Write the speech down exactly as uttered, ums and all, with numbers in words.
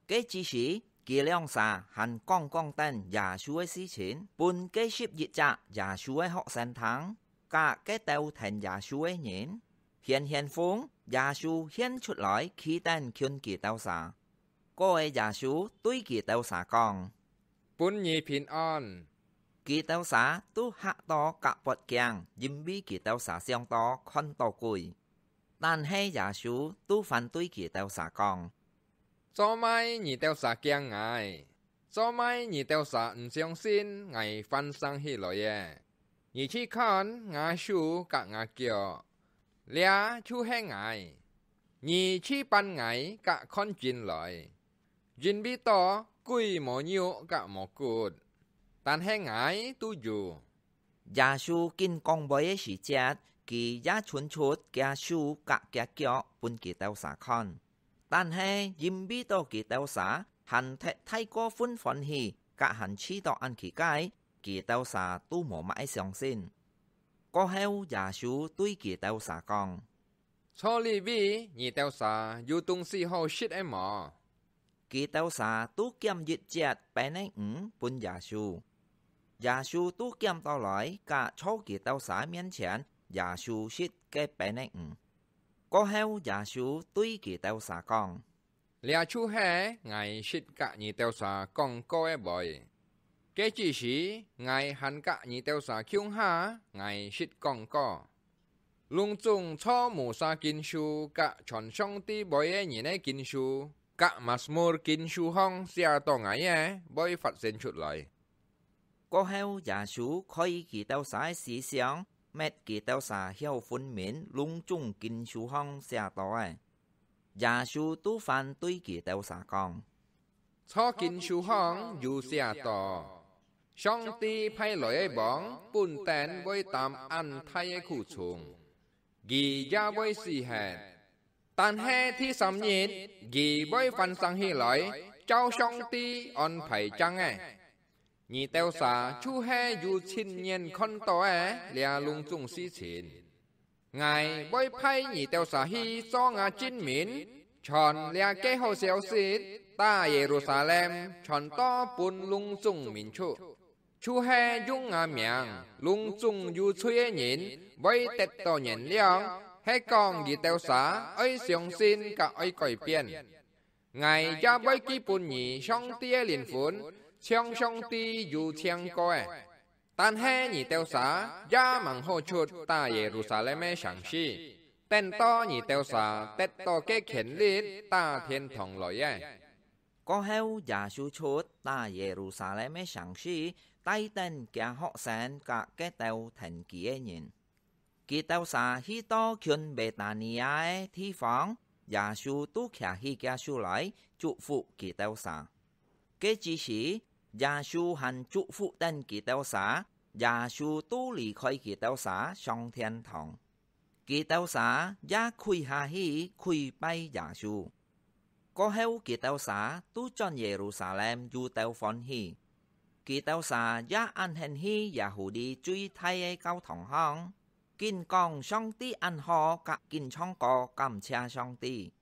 該之時，佢兩儕還講講等耶穌个事情，分該十一隻耶穌个學生聽，佮該兜跈耶穌个人。顯現風，耶穌現出來，企等近佢兜儕。過个耶穌對佢兜儕講：「分你平安！」佢兜儕都嚇到㧯發驚，因為佢兜儕想到看到鬼。 但係耶穌都還對佢兜儕講：「做麼你兜儕驚𠊎？做麼你兜儕毋相信𠊎還生起來了？你去看吾手佮吾腳，這就係𠊎。你去扳𠊎佮看筋來，因為到鬼無肉佮無骨，但係𠊎都有。」 耶穌緊講話个時節，佢也伸出厥手佮厥腳分佢兜儕看。但係因為到佢兜儕還忒太過分歡喜，佮還試著恁奇怪，佢兜儕都無麼个相信。過後，耶穌對佢兜儕講：「在這位你兜儕有東西好食个無？」佢兜儕都撿一節粄仔魚分耶穌。耶穌都撿倒來，佮在佢兜儕面前耶穌食个粄仔魚。過後，耶穌對佢兜儕講：「這就係𠊎識佮你兜儕講過个話，該之時𠊎還佮你兜儕共下𠊎識講過。」 攏總在Musa經書佮傳上帝話个人个經書，佮Masmur經書項寫著𠊎个，會發生出來。過後，耶穌開佢兜儕个思想，搣佢兜儕曉分明攏總經書項寫著个。耶穌都還對佢兜儕講： 在經書項有寫著：「上帝派來个王本等會擔恁大个苦衷，佢也會死忒。但係第三日，佢會翻生起來，照上帝安排正个。」你兜儕就係有親眼看著个這攏總事情。 𠊎會派你兜儕去做吾證明，傳這个好消息，打Yerusalem傳到分攏總民族，就係用吾名攏總有罪个人會得著原諒，係講你兜儕愛相信佮愛改變。 𠊎也會寄分你上帝个靈魂，像上帝有請過个。但係你兜儕也吂好出打Yerusalem个城市，等到你兜儕得著个權力打天堂來个。過後，耶穌出打Yerusalem个城市，帶等厥學生佮該兜跈佢个人。 佢兜儕去到近Betania个地方，耶穌都擎起厥手來，祝福佢兜儕。該之時，耶穌還祝福等佢兜儕，耶穌都離開佢兜儕上天堂。佢兜儕也跪下去跪拜耶穌。 過後，佢兜儕都轉Yerusalem又鬥歡喜。佢兜儕也恁興去Yahudi最大个教堂項，緊講上帝恁好佮緊唱歌感謝上帝。